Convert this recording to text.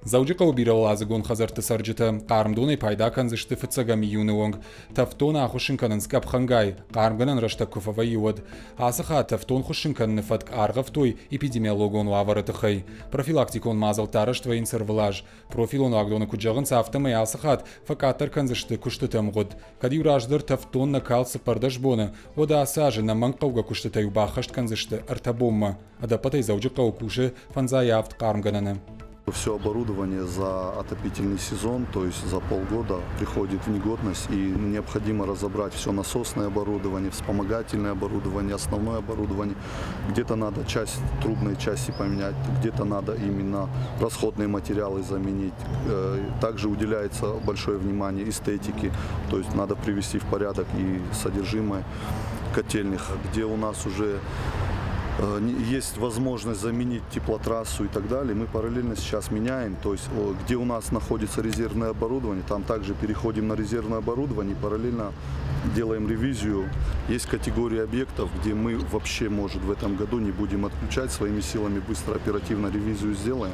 Дзӕуджыхъӕуы бирӕуӕладзыгон хӕдзӕртты цӕрджытӕ хъарм донӕй пайда кӕндзысты фыццӕгӕм июны онг. Тӕвддон ахуыссын кӕнынц къӕпхӕнгай, хъармгӕнӕн рӕстӕг куы фӕвӕййы, уӕд. Ацы хатт тӕвддон хуыссын кӕныны фӕтк аргъӕвтой эпидемиологон уавӕры тыххӕй. Профилактикон мадзӕлттӕ арӕзт вӕййынц ӕрвылаз. Профилон уагдоны куыд зӕгъынц, афтӕмӕй ацы хатт фӕкъаддӕр кӕндзысты куыстыты ӕмгъуыд. Кӕд-иу раздӕр тӕвддон нӕ калд 14 боны, уӕд ацы азы ӕнӕмӕнгхъӕугӕ куыстытӕ-иу баххӕст кӕндзысты ӕртӕ бонмӕ. Ӕдӕппӕтӕй Дзӕуджыхъӕуы кусы 57 хъармгӕнӕны. Все оборудование за отопительный сезон, то есть за полгода, приходит в негодность, и необходимо разобрать все насосное оборудование, вспомогательное оборудование, основное оборудование. Где-то надо часть трубной части поменять, где-то надо именно расходные материалы заменить. Также уделяется большое внимание эстетике, то есть надо привести в порядок и содержимое котельных, где у нас уже есть возможность заменить теплотрассу и так далее. Мы параллельно сейчас меняем, то есть где у нас находится резервное оборудование, там также переходим на резервное оборудование, параллельно делаем ревизию. Есть категории объектов, где мы вообще, может, в этом году не будем отключать, своими силами быстро, оперативно ревизию сделаем.